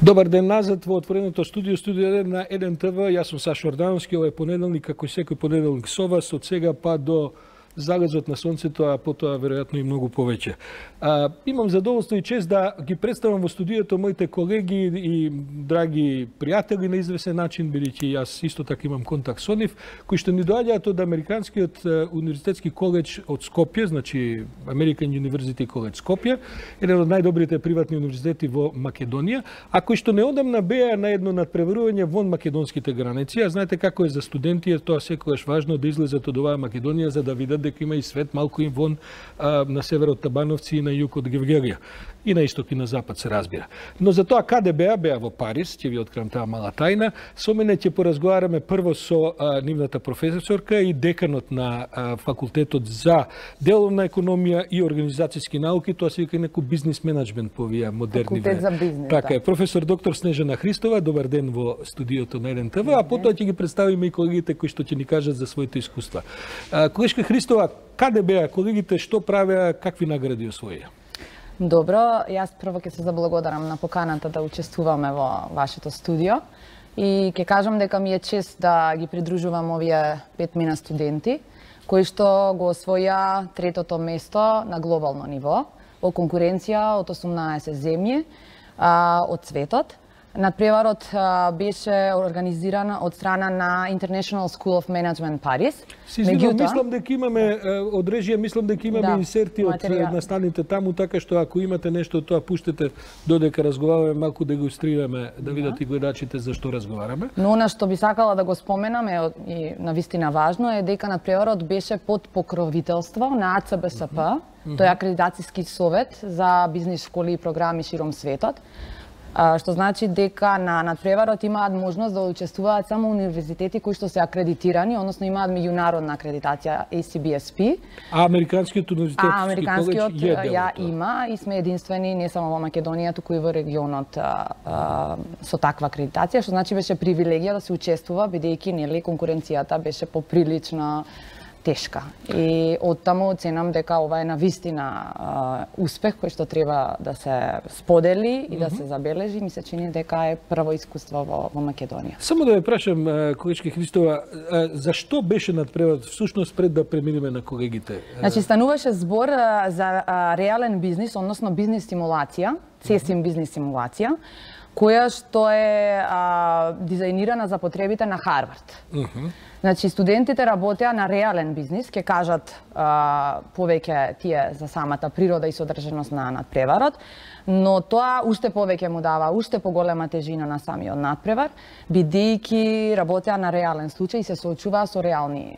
Добар ден назад во отвореното студио 1 на 1 ТВ. Јас сум Сашо Ордановски, ова е понеделник, како и секој понеделник со вас, од сега па до залезот на сонцето, а потоа веројатно и многу повеќе. Имам задоволство и чест да ги представам во студиото моите колеги и драги пријатели на извесен начин, бидејќи јас исто така имам контакт со нив, кои што ни доаѓаат од Американскиот универзитетски коледж од Скопје, значи American University College Скопје, еден од најдобрите приватни универзитети во Македонија, а кои што неодамна беа на едно надпреварување вон македонските граници. А знаете како е за студенти, тоа секогаш важно да излезат од оваа Македонија за да видат дека има и свет малку им вон на север од Табановци и на југ од Гевгелија. И на исток и на запад се разбира. Но за тоа каде беа во Париз, ќе ви откривам таа мала тајна. Со мене ќе поразговараме прво со нивната професорка и деканот на факултетот за деловна економија и организацијски науки, тоа се вика некој бизнис менеджмент по овие модерни. Факултет за бизнес. Така е, професор доктор Снежана Христова, добар ден во студиото на 1 ТВ, а потоа ќе ги представиме и колегите кои што ќе ни кажат за своите искуства. Колешка Христова, каде беа колегите, што правеа, какви награди освоија? Добро, јас прво ќе се заблагодарам на поканата да учествуваме во вашето студио и ќе кажам дека ми е чест да ги придружувам овие 5 мина студенти кои што го освоја третото место на глобално ниво во конкуренција од 18 земји од светот. Надпреварот беше организиран од страна на International School of Management Париз. Мислам дека имаме од режија, мислам дека имаме инсерти од настаните таму, така што ако имате нешто тоа пуштете додека разговараме, малку да го илустрираме, да видат и гледачите за што разговараме. Но она што би сакала да го споменам и навистина важно е дека надпреварот беше под покровителство на АЦБСП, тој е акредитацијски совет за бизнис школи и програми широм светот. Што значи дека на надпреварот имаат можност да учествуваат само универзитети кои што се акредитирани, односно имаат меѓународна акредитација ACBSP. А Американскиот универзитетски коледж ја има и сме единствени не само во Македонија, туку и во регионот со таква акредитација, што значи беше привилегија да се учествува, бидејќи нели конкуренцијата беше поприлично тешка. И оттаму оценам дека ова е навистина успех кој што треба да се сподели и да се забележи. Ми се чини дека е прво искуство во Македонија. Само да ве прашам, колечка Христова, зашто беше надпреварот всушност пред да преминеме на колегите? Значи стануваше збор за реален бизнис, односно бизнис симулација, CSIM бизнис симулација, која што е дизајнирана за потребите на Харвард. Значи, студентите работеа на реален бизнис, ќе кажат повеќе тие за самата природа и содржиност на надпреварот, но тоа уште повеќе му дава уште поголема тежина на самиот надпревар, бидејќи работеа на реален случај и се соочуваа со реални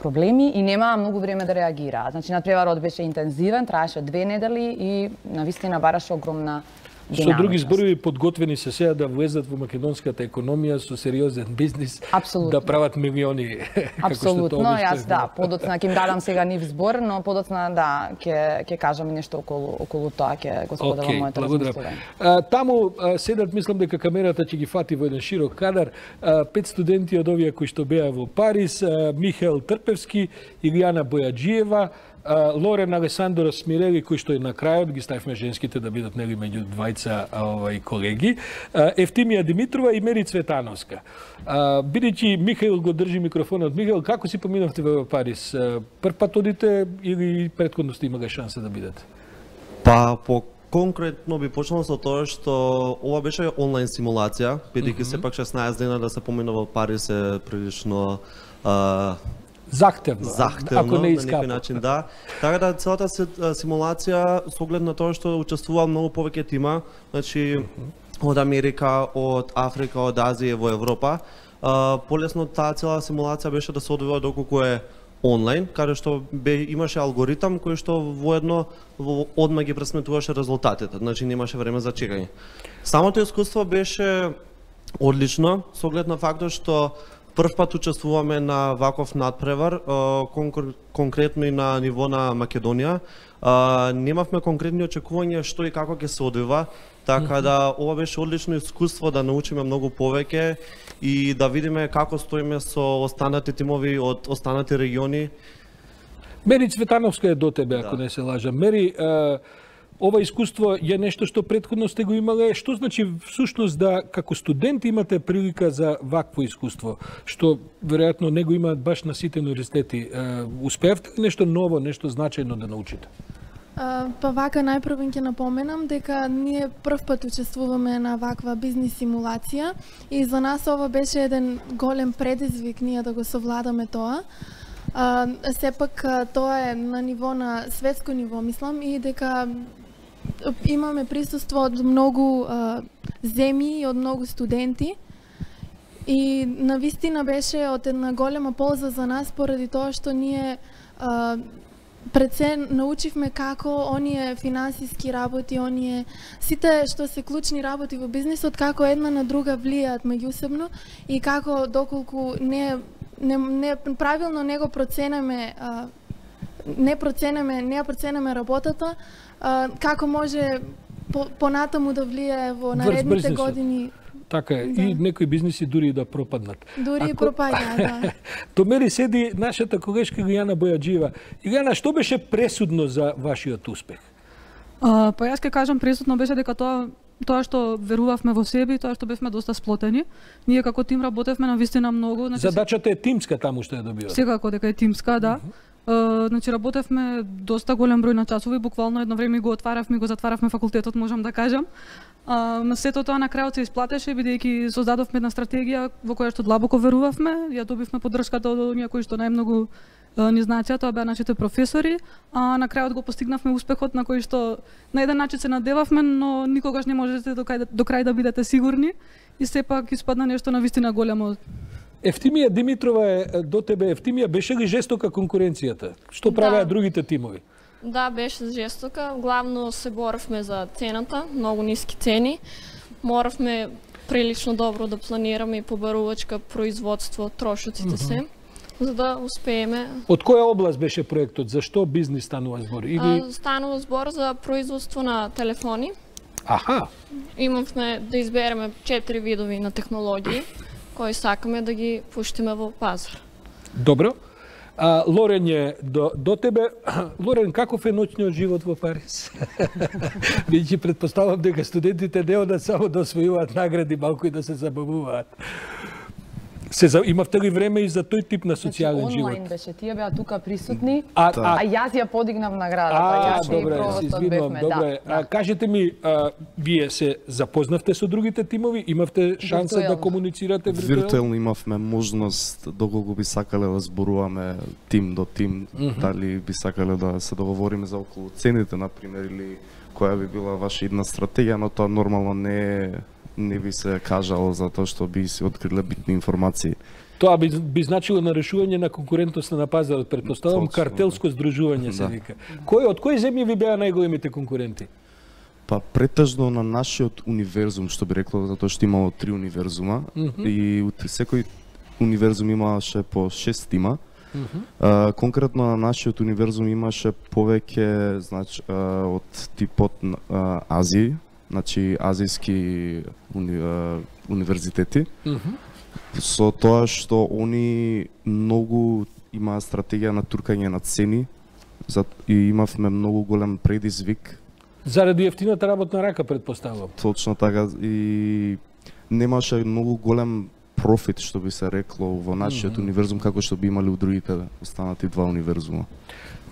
проблеми и немаа многу време да реагираат. Значи, надпреварот беше интензивен, траеше 2 недели и навистина бараше огромна Со други зборови, подготвени се сега да влезат во македонската економија со сериозен бизнис, да прават милиони. Апсолутно, јас подоцна ќе им дадам сега нив збор, но подоцна ќе кажам нешто околу тоа, ќе го споделам моето размислување. Таму седат, мислам дека камерата ќе ги фати во еден широк кадар, 5 студенти од овие кои што беа во Париз, Михаил Трпевски, Илијана Бојаджиева, Лорен Алесандро Смирели, кој што е на крајот, ги ставивме женските да бидат нели меѓу двајца колеги, Евтимија Димитрова и Мери Цветановска. Бидејќи Михаил го држи микрофонот, Михаил, како си поминавте во Париз? Прв пат одите или претходно сте имале шанса да бидете? Па, конкретно би почнал со тоа што ова беше онлайн симулација, бидејќи сепак 16 дена да се помина во Париз е прилично захтевно, ако не на некој начин, да. Така да целата симулација со оглед на тоа што учествува многу повеќе тима, значи од Америка, од Африка, од Азија во Европа, полесно таа цела симулација беше да се одвива доколку е онлайн, каде што имаше алгоритам кој што воедно одма ги пресметуваше резултатите, значи немаше време за чекање. Самото искуство беше одлично со оглед на фактот што прв пат учествуваме на ваков надпревар, конкретно и на ниво на Македонија. Немавме конкретни очекувања што и како ќе се одвива, така да ова беше одлично искуство да научиме многу повеќе и да видиме како стоиме со останати тимови од останати региони. Мери Цветановска е до тебе, ако не се лажам. Мери, ова искуство е нешто што претходно сте го имале. Што значи всушност да како студенти имате прилика за вакво искуство, што веројатно не го имаат баш на сите универзитети? Успеавте ли нешто ново, нешто значајно да научите? Па вака најпрво ќе напоменам дека ние прв пат учествуваме на ваква бизнис симулација и за нас ова беше еден голем предизвик ние да го совладаме тоа. Сепак тоа е на ниво на светско ниво, мислам, и дека имаме присуство од многу земји и од многу студенти. И навистина беше од една голема полза за нас поради тоа што ние пред се научивме како оние финансиски работи, оние сите што се клучни работи во бизнисот, како една на друга влијаат меѓусебно и како доколку не правилно не го проценеме, не проценеме работата, како може понатаму да влијае во наредните години. Така е, да. И некои бизниси дури да пропаднат. Дури пропаѓаат, да. До мене седи нашата колешка Илијана Бојаджиева. Илијана, што беше пресудно за вашиот успех? Па јас ќе кажам, пресудно беше дека тоа што верувавме во себе и тоа што бевме доста сплотени. Ние како тим работевме навистина многу. Значи, задачата е тимска таму што ја добивате. Секако дека е тимска, да. Значи работевме доста голем број на часови, буквално едно време го отваравме и го затваравме факултетот, можам да кажам. Сето тоа на крајот се исплатеше, бидејќи создадовме една стратегија во која што длабоко верувавме, ја добивме поддршката од оние кои што најмногу ни знаеа, тоа беа нашите професори, а на крајот го постигнавме успехот на кој што на еден начин се надевавме, но никогаш не можете до крај да бидете сигурни и сепак испадна нешто навистина големо. Евтимија Димитрова е до тебе. Евтимија, беше ли жестока конкуренцијата? Што правеа другите тимови? Да, беше жестока. Главно се боравме за цената, многу ниски цени. Моравме прилично добро да планираме и побарувачка, производство, трошоците се, за да успееме. Од која област беше проектот? За што бизнис станува збор? Станува збор за производство на телефони. Аха. Имавме да избереме 4 видови на технологии кои сакаме да ги пуштиме во пазар. Добро. Лорен е до тебе. Лорен, каков е ноќниот живот во Париз? Бидејќи претпоставам дека студентите не одат само да освојуваат награди, малку и да се забавуваат. Имавте ли време и за тој тип на социјален живот? Онлайн беше, тие беа тука присутни, а јас ја подигнав наградата. Добре, се извинувам, добре. Кажете ми, вие се запознавте со другите тимови? Имавте шанса да комуницирате виртуелно? Виртуелно имавме можност, доколку би сакале да зборуваме тим до тим, дали би сакале да се договориме за околу цените, например, или која би била ваша идна стратегија, но тоа нормално не би се кажало затоа што би се откриле битни информации. Тоа би значило нарешување на конкурентноста на пазарот, претпоставам картелско здружување се вика. Од кои земји ви беа најголемите конкуренти? Па претежно на нашиот универзум, што би рекло, затоа што имало 3 универзума и секој универзум имаше по 6 тима. Конкретно на нашиот универзум имаше повеќе, значи, од типот Азија, значи азијски универзитети, со тоа што они многу имаа стратегија на туркање на цени и имавме многу голем предизвик. Заради ефтината работна рака, претпоставувам. Точно така, и немаше многу голем профит, што би се рекло, во нашиот универзум, како што би имали у другите останати 2 универзума.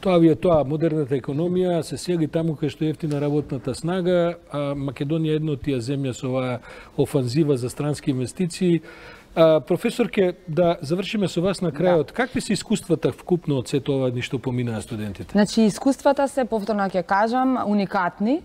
Тоа ви е тоа, модерната економија се сели таму кај што е ефтина работната снага, а Македонија е една од тие земја со оваа офанзива за странски инвестиции. Професорке, да завршиме со вас на крајот. Какви се искуствата вкупно од сето ова ништо поминаа студентите? Значи, искуствата се, повторно ќе кажам, уникатни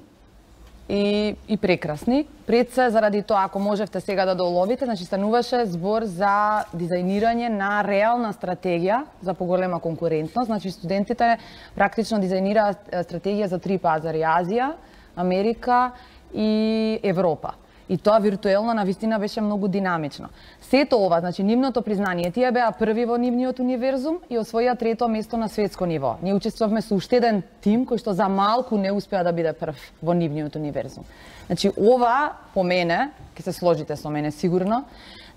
и прекрасни. Пред се, заради тоа, ако можевте сега да доловите, значи стануваше збор за дизајнирање на реална стратегија за поголема конкурентност. Значи, студентите практично дизајнираат стратегија за 3 пазари: Азија, Америка и Европа. И тоа виртуелно навистина беше многу динамично. Сето ова, значи нивното признание, тие беа први во нивниот универзум и освоија 3-то место на светско ниво. Ние учествувавме со уште еден тим кој што за малку не успеа да биде прв во нивниот универзум. Значи ова по мене, ќе се сложите со мене сигурно,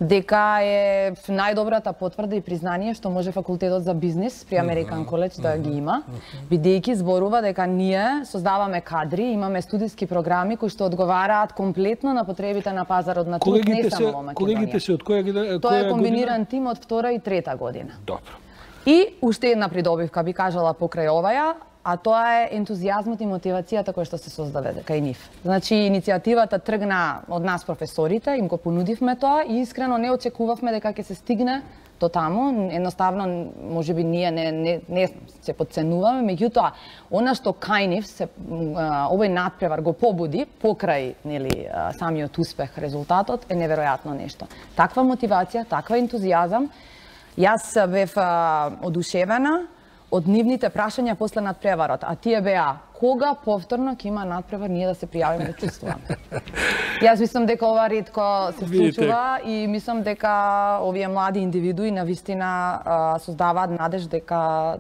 дека е најдобрата потврда и признание што може факултетот за бизнис при American College да ги има, бидејќи зборува дека ние создаваме кадри, имаме студиски програми кои што одговараат комплетно на потребите на пазарот на труд, не само во Македонија. Колегите се од која Тоа е комбиниран тим од 2 и 3 година. Добро. И уште една придобивка би кажала покрај оваја, а тоа е ентузијазмот и мотивацијата која што се создаве кај нив. Значи, иницијативата тргна од нас професорите, им го понудивме тоа и искрено не очекувавме дека ќе се стигне до таму. Едноставно, можеби ние не се подценуваме, меѓутоа, она што кај нив се овој надпревар го побуди покрај самиот успех, резултатот е неверојатно нешто. Таква мотивација, таква ентузијазам, јас бев одушевена од нивните прашања после надпреварот, а тие беа кога повторно ќе има надпревар ние да се пријавиме да чувствуваме. Јас мислам дека ова ретко се случува и мислам дека овие млади индивидуи навистина создаваат надеж дека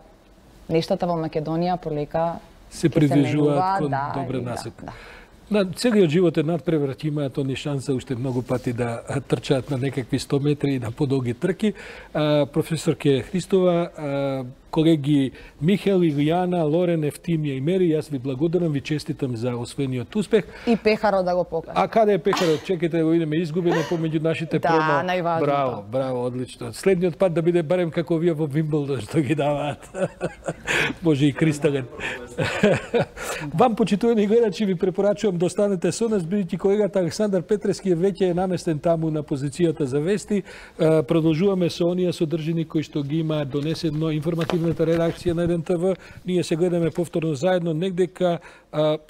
нештата во Македонија полека се придвижуваат кон добра насока. На целиот живот е надпревар, ќе имаат они шанса уште многу пати да трчаат на некакви 100 метри и на подолги трки. Професорке Христова, колеги Михел, Илијана, Лорен, Евтимија и Мери, јас ви благодарам, ви честитам за освоениот успех. И пехарот да го покаже. А каде е пехарот? Чекайте да го видиме изгубено помеѓу нашите промо. Да, најважното. Браво, браво, одлично. Следниот пат да биде барем како вие во Вимблдон што ги даваат. Може и кристален. Вам, почитувани гледачи, ви препорачувам да останете со нас, бидејќи колегата Александар Петрески веќе е наместен таму на позицијата за вести. Продолжуваме со оние содржини кои што ги има донесено информативната редакција на ЕДН-ТВ. Ние се гледаме повторно заедно негдека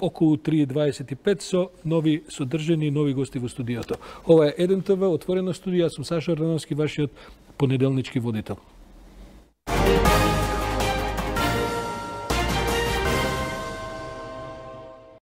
околу 3:25 со нови содржини и нови гости во студиото. Ова е ЕДН-ТВ, отворено студио, јас сум Сашо Рановски, вашиот понеделнички водител.